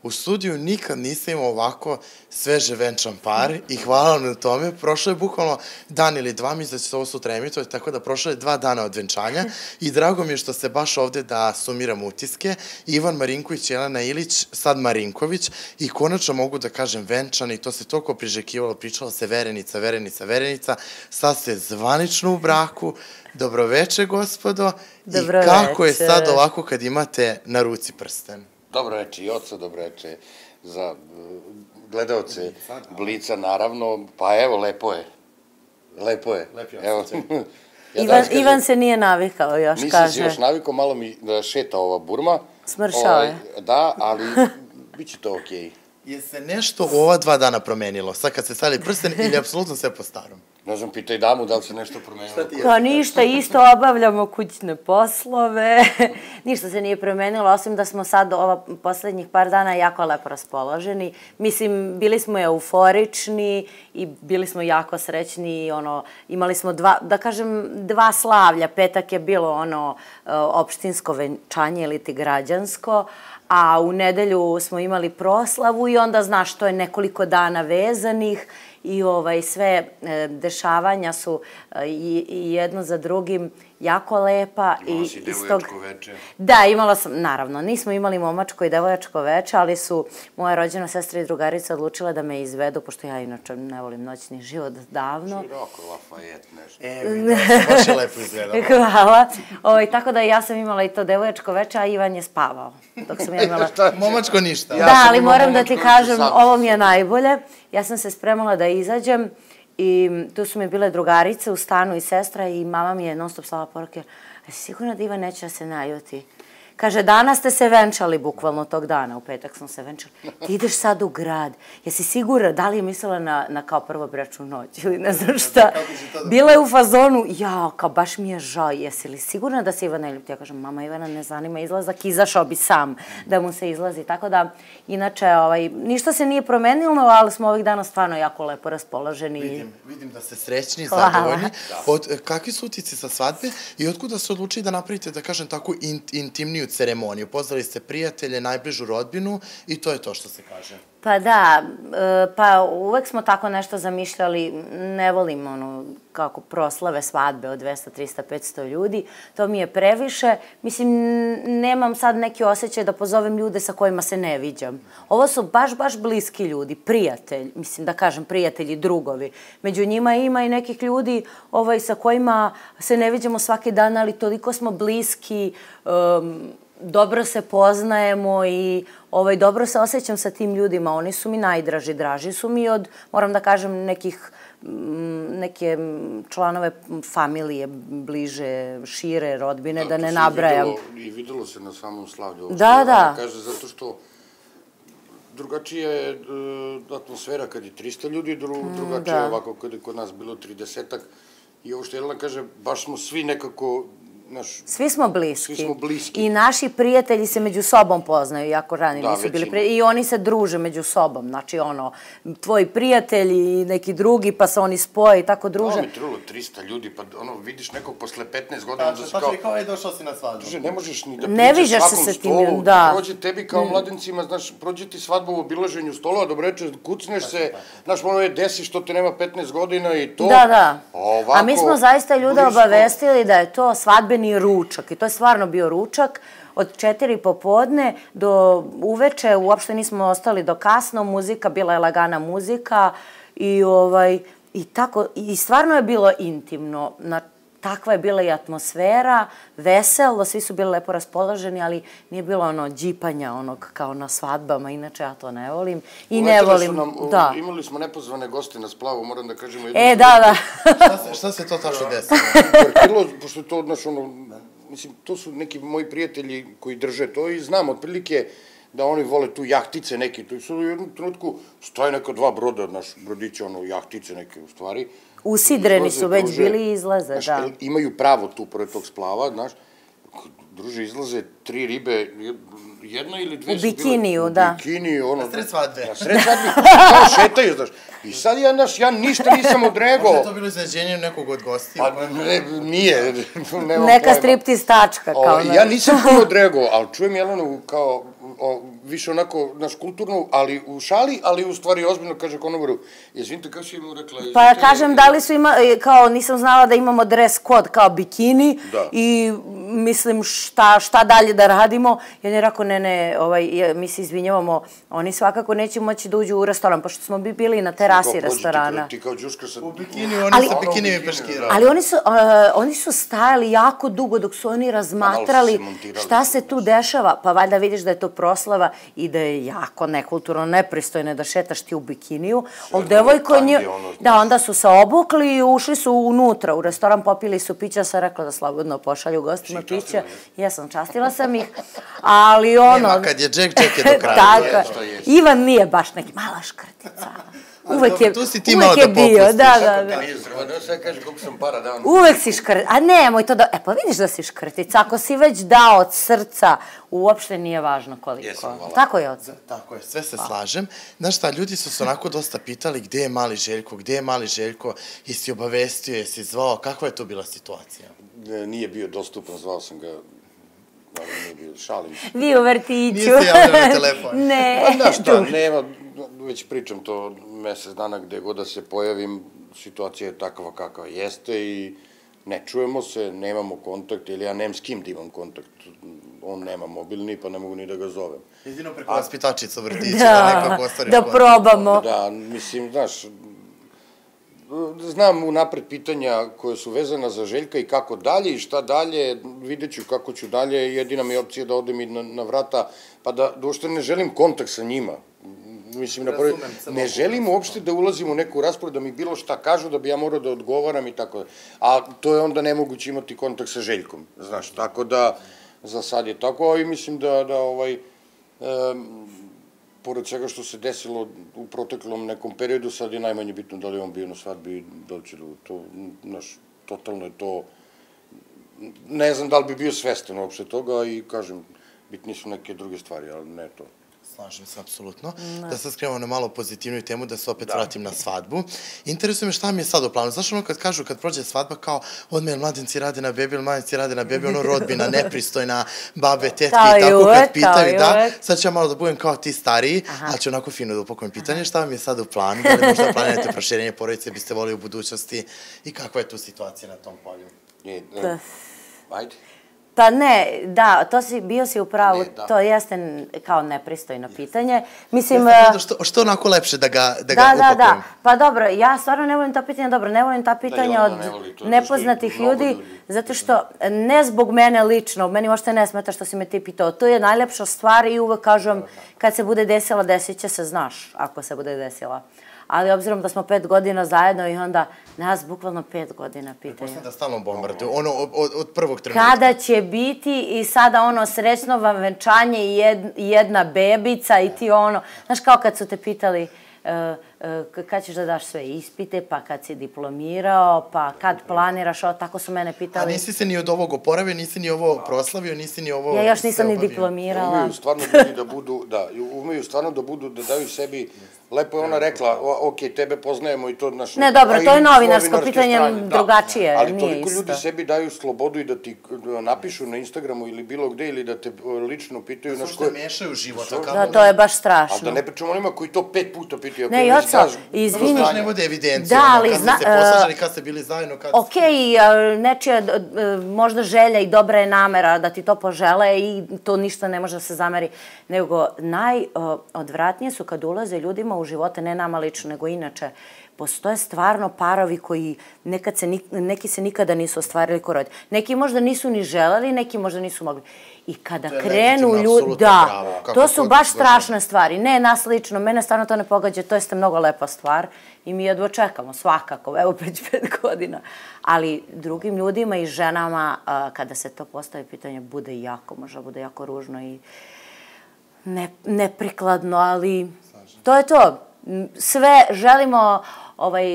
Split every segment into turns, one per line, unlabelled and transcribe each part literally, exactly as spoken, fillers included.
U studiju nikad nisam imao ovako sveže venčan par i hvala vam na tome. Prošlo je bukvalno dan ili dva, mislim da će se ovo sutra emitovati, tako da prošlo je dva dana od venčanja i drago mi je što ste baš ovde da sumiram utiske. Ivan Marinković, Jelena Ilić, sad Marinković i konačno mogu da kažem venčan i to se toliko priželjkivalo, pričalo se verenica, verenica, verenica. Sad ste zvanično u braku. Dobroveče, gospodo. I kako je sad ovako kad imate na ruci prsten?
Dobroveče i oca, dobroveče za gledalce Blica, naravno. Pa evo, lepo je. Lepo je.
Ivan se nije navikao još, kaže.
Nisam se još navikao, malo mi šeta ova burma.
Smršao je.
Da, ali bit će to okej.
Je se nešto u ova dva dana promenilo? Sad kad ste stavili prsten ili apsolutno sve po starom?
Ne znam, pitaj damu da li se nešto promenilo.
Pa ništa, isto obavljamo kućne poslove. Ništa se nije promenilo, osim da smo sad ova poslednjih par dana jako lepo raspoloženi. Mislim, bili smo euforični i bili smo jako srećni. Imali smo dva, da kažem, dva slavlja. Petak je bilo ono opštinsko venčanje ili ti građansko, a u nedelju smo imali proslavu i onda, znaš, to je nekoliko dana vezanih i sve dešavanja su i jedno za drugim jako lepa.
Imala si devojačko veče.
Da, imala sam, naravno, nismo imali momačko i devojačko veče, ali su moja rođena sestra i drugarica odlučila da me izvedu, pošto ja inače ne volim noćni život davno.
Široko, Lafayette, nešto.
Evo, baš je lepo izgledalo.
Hvala. Tako da ja sam imala i to devojačko veče, a Ivan je spavao. Dok sam ja imala...
Momačko ništa.
Da, ali moram da ti kažem, ovo mi je najbolje. Ja sam se spremala da izađem i tu su mi bile drugarice u stanu i sestra i mama mi je non stop slala poruke. A si sigurna da Ivan neće da se naljuti? Kaže, danas ste se venčali, bukvalno tog dana, u petak smo se venčali. Ti ideš sad u grad. Jesi sigurna, da li je mislila na kao prvo bračnu noć ili ne znam šta? Bila je u fazonu, jao, kao baš mi je žao, jesi li sigurna da se Ivan ne ljuti? Ja kažem, mama, Ivana ne zanima izlazak, izašao bi sam da mu se izlazi. Tako da, inače, ništa se nije promenilo, ali smo ovih dana stvarno jako lepo raspoloženi.
Vidim, vidim da ste srećni i zadovoljni. Kakvi su utici sa svadbe i otkuda se odlučili da napravite, da kažem, tako intimniju ceremoniju? Pozvali ste prijatelje, najbližu rodbinu i to je to što se kaže.
Pa da, pa uvek smo tako nešto zamišljali, ne volim ono kako proslave svadbe od dvesta, trista, petsto ljudi, to mi je previše. Mislim, nemam sad neki osjećaj da pozovem ljude sa kojima se ne viđam. Ovo su baš, baš bliski ljudi, prijatelj, mislim da kažem prijatelji, drugovi. Među njima ima i nekih ljudi sa kojima se ne viđamo svaki dan, ali toliko smo bliski, dobro se poznajemo i dobro se osjećam sa tim ljudima. Oni su mi najdraži, draži su mi od, moram da kažem, nekih neke članove familije, bliže, šire, rodbine, da ne nabrajam.
I videlo se na samom slavlju.
Da, da.
Kaže, zato što drugačija je atmosfera kad je trista ljudi, drugačija je ovako kad je kod nas bilo tridesetak. I ovo što Jelena kaže, baš smo svi nekako...
Svi smo bliski. I naši prijatelji se među sobom poznaju, jako rani nisu bili prijatelji. I oni se druže među sobom. Znači, ono, tvoji prijatelji i neki drugi, pa se oni spoje i tako druže.
Ovo mi trulo trista ljudi, pa ono, vidiš nekog posle petnaest godina...
Da, pa kao je došao si na svadbu.
Ne možeš ni da priđeš svakom stolu, prođe tebi kao mladencima, znaš, prođe ti svadbu u obilaženju stolova, dobro reče, kucneš se, znaš, ono je desi što te nema petnaest godina i to...
Da, da. A mi smo zaista ljude obavestili da je to svadbeni ručak i to je stvarno bio ručak od četiri popodne do uveče, uopšte nismo ostali do kasno, muzika, bila je lagana muzika i tako, i stvarno je bilo intimno, takva je bila i atmosfera, veselo, svi su bili lepo raspoloženi, ali nije bilo ono džipanja onog kao na svadbama, inače ja to ne volim i ne volim, da.
Imali smo nepozvane goste na splavu, moram da kažemo jednu...
E, da,
da. Šta se to tačno desilo?
Pošto je to, znaš, ono, mislim, to su neki moji prijatelji koji drže to i znam otprilike da oni vole tu jahtice neke, to su u jednom trenutku stoje neka dva broda, naš brodića, ono, jahtice neke u stvari.
Usidreni su već bili i izlaze, da.
Imaju pravo tu pored tog splava, znaš, druže, izlaze tri ribe, jedna ili dve su bile...
U bikiniju, da.
U bikiniju, ono...
Na sred svadbe.
Na sred svadbe, kao šetaju, znaš. I sad ja, znaš, ja ništa nisam odregao.
Možda je to bilo iznenađenje nekog od gostija?
Pa nije, nemam pojma.
Neka striptiz tačka, kao...
Ja nisam puno odregao, ali čujem Jelenu kao više onako, naš kulturno, ali u šali, ali u stvari ozbiljno, kaže konobaru, izvinite, kako si im rekla?
Pa ja kažem, da li su ima, kao nisam znala da imamo dress code kao bikini i mislim šta dalje da radimo. I on je rekao, ne, ne, mi se izvinjavamo, oni svakako neće moći da uđu u restoran, pošto smo bi bili na terasi restorana.
Ti kao džuska sa...
U bikini, oni sa bikinijim peškirama.
Ali oni su stajali jako dugo dok su oni razmatrali šta se tu dešava. Pa valjda vidiš da je to proslava i da je jako nekulturno, nepristojno da šetaš ti u bikiniju. Ali devojko nje... Da, onda su se obukli i ušli su unutra u restoran, popili su pića, sam rekla da slobodno pošalju gostima pića. Jesam, častila sam ih, ali ono...
Nema, kad je Jack, Jack je do kraja.
Tako, Ivan nije baš neki mala škrtica. Uvek je,
tu si ti malo da
popustiš. Da, da, da.
Sve kaže koliko sam para dao.
Uvek si škrtica. A nemoj to da... E pa vidiš da si škrtica. Ako si već dao od srca, uopšte nije važno koliko. Tako je, oca.
Tako je, sve se slažem. Znaš šta, ljudi su se onako dosta pitali gde je mali Željko, gde je mali Željko, jesi obavestio, jesi zvao, kakva je to bila situacija?
Nije bio dostupan, zvao sam ga... ali nije bio, šalim.
Vi u vrtiću.
Nije se javljao na telefon.
Ne.
Znaš šta, nema, već pričam to mesec dana gde god da se pojavim, situacija je takva kakva jeste i ne čujemo se, nemamo kontakt, ili ja nemam s kim da imam kontakt. On nema mobilni, pa ne mogu ni da ga zovem.
Jedino preko vaspitačica u vrtiću, da nekako ostariš
kontakt. Da probamo.
Da, mislim, znaš, znam unapred pitanja koje su vezana za Željka i kako dalje i šta dalje, vidjet ću kako ću dalje, jedina mi je opcija da odem i na vrata, pa da uopšte ne želim kontakt sa njima. Mislim, ne želim uopšte da ulazim u neku raspravu, da mi bilo šta kažu, da bi ja morao da odgovaram i tako da. A to je onda nemoguće imati kontakt sa Željkom, znaš, tako da za sad je tako, i mislim da, da ovaj, pored svega što se desilo u proteklom nekom periodu, sad je najmanje bitno da li on bio na svadbi, da li će da to, znaš, totalno je to, ne znam da li bi bio svestan uopšte toga i kažem, bitni su neke druge stvari, ali ne to.
Slažem se, apsolutno. Da sad skrenemo na malo pozitivniju temu, da se opet vratim na svadbu. Interesuje me šta mi je sad u planu. Znaš ono kad kažu, kad prođe svadba, kao odme, mladenci rade na bebi, ili mladenci rade na bebi, ono rodbina, nepristojna, babe, tetke i tako kad pitaju, da, sad ću ja malo da budem kao ti stariji, ali ću onako fino da upakujem pitanje, šta vam je sad u planu, da li možda planirate proširenje porodice, biste volili u budućnosti i kakva je tu situacija na tom polju?
Ajde.
Pa ne, da, to si, bio si u pravu, to jeste kao nepristojno pitanje. Mislim...
Što onako lepše da ga upakujem?
Da, da, da. Pa dobro, ja stvarno ne volim ta pitanja, dobro, ne volim ta pitanja od nepoznatih ljudi, zato što ne zbog mene lično, meni uopšte ne smeta što si me ti pitao, to je najlepša stvar i uvek kažem, kad se bude desila, desit će se, znaš, ako se bude desila. Ali obzirom da smo pet godina zajedno i onda nas bukvalno pet godina pitaju.
Pretpostavljam da stalno bombarduju, ono od prvog trenutka.
Kada će biti i sada ono srećno vam venčanje i jedna bebica i ti ono, znaš kao kad su te pitali kad ćeš da daš sve ispite, pa kad si diplomirao, pa kad planiraš, tako su mene pitali.
A nisi se ni od ovog oporavio, nisi ni ovo proslavio, nisi ni ovo...
Ja još nisam ni diplomirala.
Umeju stvarno ljudi da budu, da, umeju stvarno da budu, da daju sebi, lepo je ona rekla, ok, tebe poznajemo i to naš...
Ne, dobro, to je novinarsko pitanje drugačije,
ali
nije
toliko
isto.
ljudi sebi daju slobodu i da ti napišu na Instagramu ili bilo gde ili da te lično pitaju...
Da što mešaju život.
Da, to je baš strašno.
A da ne pričamo onima koji to pet puta pitaju.
Ne, Joco, izvini.
Znaš, ne vode evidenciju, kad ste se poslažali, kad ste bili zajedno, kad ste...
Okej, nečija možda želja i dobra je namera da ti to požele i to ništa ne može da se zameri, nego najodvratnije su kad ulaze ljudima u živote, ne nama lično, nego inače, postoje stvarno parovi koji neki se nikada nisu ostvarili ko roditelji. Neki možda nisu ni želeli, neki možda nisu mogli. I kada krenu ljudi, da, to su baš strašne stvari. Ne nas lično, mene stvarno to ne pogađa, to jeste mnogo lepa stvar i mi jedva čekamo svakako, evo već pet godina. Ali drugim ljudima i ženama, kada se to postavi pitanje, bude jako, možda bude jako ružno i neprikladno, ali to je to. Sve želimo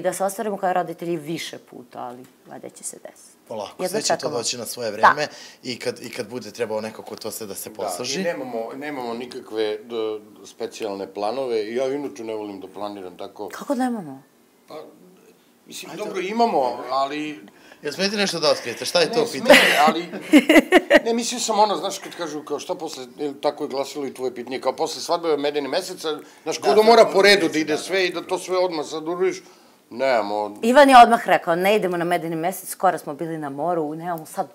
da se ostvarimo kao roditelji više puta, ali valjda će se desiti.
Polako, sve će to doći na svoje vreme i kad bude trebao nekako to sve da se poslaži.
Da, i nemamo nikakve specijalne planove. Ja inače ne volim da planiram tako.
Kako nemamo?
Pa, mislim, dobro, imamo, ali
Jel smijete nešto da otkrijete? Šta je to
Ne,
pitanje?
sme, ali... Ne, mislio sam ono, znaš, kad kažu, kao šta posle, tako je glasilo i tvoje pitanje, kao posle svadbe medeni meseca, znaš, ko da mora po redu da ide sve i da to sve odmah sad uradiš, nemamo...
Ivan je odmah rekao, ne idemo na medeni mesec, skoro smo bili na moru, nemamo sad,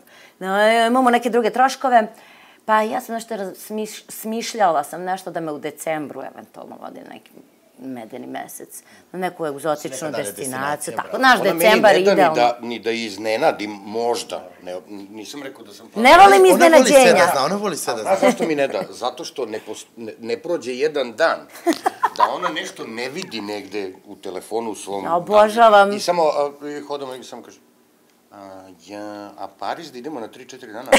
imamo neke druge troškove. Pa ja sam nešto smišljala sam nešto da me u decembru eventualno vodi neki medeni mesec, na neku egzotičnu destinaciju, tako, naš decembar je idealno.
Ona meni ni da iznenadim, možda, nisam rekao da sam...
Ne volim iznenađenja.
Ona voli sve da zna.
A zašto mi ne da? Zato što ne prođe jedan dan da ona nešto ne vidi negde u telefonu u svom...
Ja obožavam.
I samo hodamo i samo kaže, ja, a Pariz da idemo na tri četiri dana?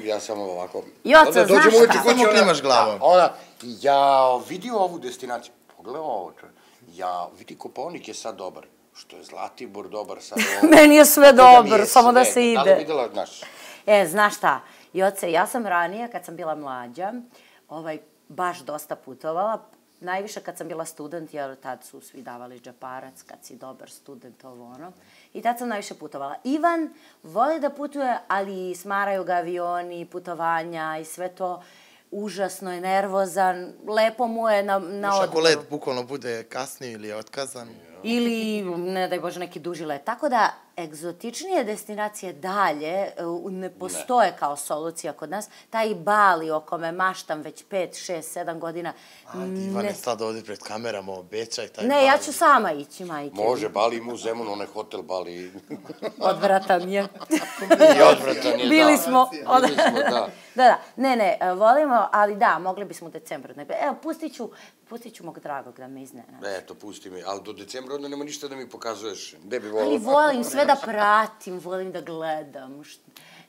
Ja samo ovako...
Joca, znaš šta?
Samo klimaš glavom.
Ona, ja vidio ovu destinaciju. Pogledaj ovo, ja vidi Kopaonik je sad dobar. Što je Zlatibor dobar sad ovo.
Meni je sve dobro, samo da se ide.
Da li videla, znaš?
E, znaš šta, Joce, ja sam ranije, kad sam bila mlađa, ovaj, baš dosta putovala. Najviše kad sam bila student, jer tad su svi davali džeparac, kad si dobar student, ovo ono. I tad sam najviše putovala. Ivan voli da putuje, ali smaraju ga avioni, putovanja i sve to. Užasno je nervozan, lepo mu je na odmoru.
Još ako let bukvalno bude kasnije ili je otkazan.
Ili, ne daj Bože, neki duži let. Tako da, egzotičnije destinacije dalje ne postoje kao solucija kod nas. Taj Bali o kome maštam već pet, šest, sedam godina.
Ajde, Ivane, sad ovdje pred kamerama obećaj taj Bali.
Ne, ja ću sama ići, majke.
Može, Bali ima u Zemunu, onaj hotel Bali.
Odvratan je.
I odvratan je, da.
Bili smo.
Bili smo, da.
Da, da, ne, ne, volimo, ali da, mogli bismo u decembru. Evo, pustit ću, pustit ću mog dragog da me iznenadi.
Eto, pusti mi, ali do decembra onda nema ništa da mi pokazuješ. Gde bi volila?
Ali volim sve da pratim, volim da gledam.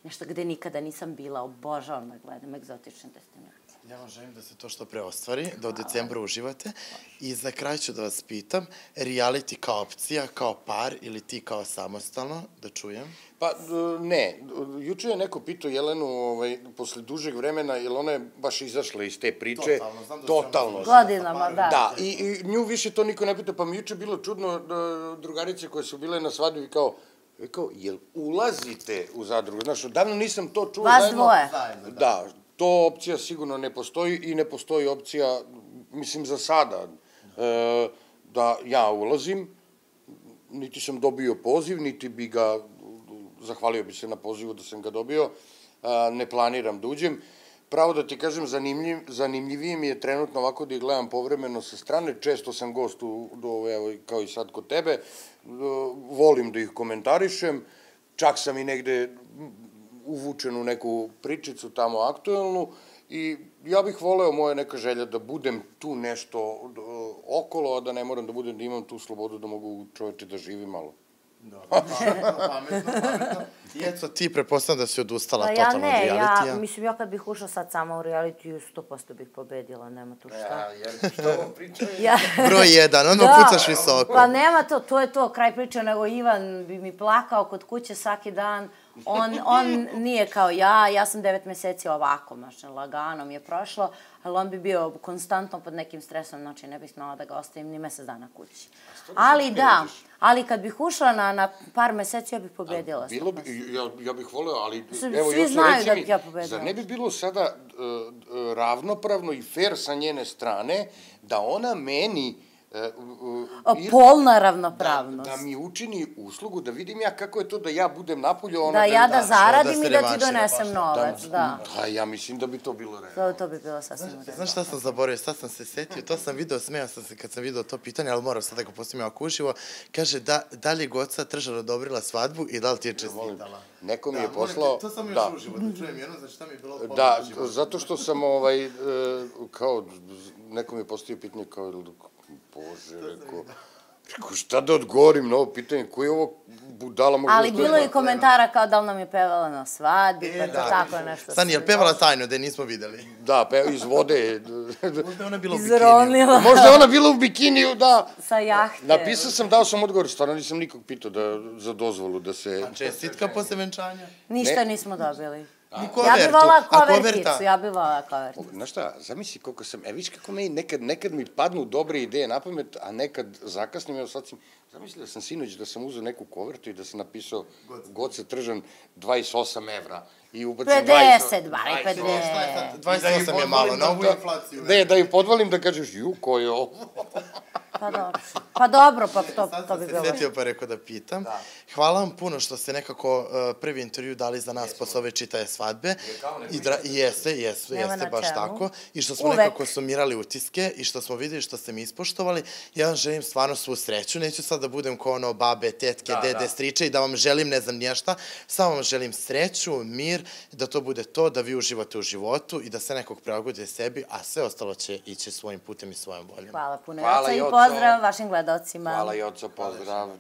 Nešto gde nikada nisam bila, obožavam da gledam egzotične destinacije.
Ja vam želim da se to što pre ostvari, da u decembru uživate. I za kraj ću da vas pitam, reality kao opcija, kao par ili ti kao samostalno, da čujem?
Pa, ne. Juče je neko pitao Jelenu, posle dužeg vremena, jer ona je baš izašla iz te priče.
Totalno, znam da
Totalno.
Godinama, da.
Da, i nju više to niko ne pita, pa mi juče bilo čudno, drugarice koje su bile na svadbi, kao, kao, jel ulazite u zadrugu? Znaš, davno nisam to čuo zajedno.
Vas dvoje.
Da, to opcija sigurno ne postoji i ne postoji opcija, mislim, za sada, da ja ulazim, niti sam dobio poziv, niti bi ga, zahvalio bi se na pozivu da sam ga dobio, ne planiram da uđem. Pravo da ti kažem, zanimljivije mi je trenutno ovako da ih gledam povremeno sa strane, često sam gost kao i sad kod tebe, volim da ih komentarišem, čak sam i negde uvučen u neku pričicu tamo aktuelnu i ja bih voleo, moja neka želja, da budem tu nešto okolo, a da ne moram da budem, da imam tu slobodu da mogu čoveče da živim malo.
Dobro, pametno, pametno, pametno. I eto, ti prepostavljam da si odustala totalno od realitija.
Ja ne, ja, mislim, ja kad bih ušla sad sama u realitiju, sto posto bih pobedila, nema tu šta.
Ja, jer što ovo pričaju?
Broj jedan, ono pucaš visoko.
Pa nema to, to je to, kraj priče, nego Ivan bi mi plakao kod kuće svaki dan. On nije kao ja, ja sam devet meseci ovako, mašne, lagano mi je prošlo, ali on bi bio konstantno pod nekim stresom, znači ne bih smela da ga ostavim ni mesec dana kući. Ali da, ali kad bih ušla na par meseci, ja bih pobedila.
Ja bih voleo, ali...
Svi znaju da bih ja pobedila.
Zar ne bi bilo sada ravnopravno i fair sa njene strane da ona meni...
Polna ravnopravnost.
Da mi učini uslugu, da vidim ja kako je to da ja budem napolju, ona...
Da ja da zaradim i da ti donesem novac, da.
Da, ja mislim da bi to bilo
realno. To bi bilo sasvim realno.
Znaš šta sam zaboravio, sad sam se setio, to sam video, smijao sam se kad sam video to pitanje, ali moram sad da ga postavim ako uživo. Kaže, da li je Goca Tržar odobrila svadbu i da li ti je čestitala?
Neko mi je poslao...
To sam još uživo, da čujem jedno, znači šta mi je bilo pomoć
uživo. Da, zato što sam, ovaj, kao, neko mi je postavio pitanje kao... Bože, rekao, rekao, šta da odgovorim na ovo pitanje, koji je ovo budala možda...
Ali bilo je i komentara kao da li nam je pevala na svadbi, pa to tako nešto...
Stani, je li pevala tajno, da je nismo videli?
Da, iz vode...
Možda je ona bila u bikiniju.
Izronila.
Možda je ona bila u bikiniju, da...
Sa jahte.
Napisao sam, dao sam odgovor, stvarno nisam nikog pitao za dozvolu da se...
A čestitka posle venčanja?
Ništa nismo dobili.
Ni
Ja
kovertu.
bi volala
A
koverticu, ja bi volala koverticu.
Znaš šta, zamisli koliko sam, e viš kako meni, nekad, nekad mi padnu dobre ideje na pamet, a nekad zakasnim, evo sad sam, zamisli da sam sinoć da sam uzeo neku kovertu i da sam napisao Goce Tržan dvadeset osam evra i ubacim
pedeset, bar pedeset.
dvadeset osam je malo, na ovu inflaciju.
Ne, da im podvalim da kažeš, ju, ko je ovo?
Pa dobro, pa dobro, pa to, to bi
se
bilo.
setio pa rekao da pitam. Hvala vam puno što ste nekako uh, prvi intervju dali za nas posle ove čitaje svadbe. I dra jeste, jeste,
Nema
jeste,
na
baš
čemu.
tako. I što smo
Uvek.
nekako sumirali utiske i što smo videli što ste mi ispoštovali. Ja vam želim stvarno svu sreću. Neću sad da budem kao ono babe, tetke, dede, striče i da vam želim ne znam nješta. Samo vam želim sreću, mir, da to bude to, da vi uživate u životu i da se nekog prilagodite sebi, a sve ostalo će ići svojim putem i svojom voljom.
Hvala puno,
Hvala,
Joco, i
Joco.
pozdrav vašim gledalcima.
Hvala, Joco, pozdrav.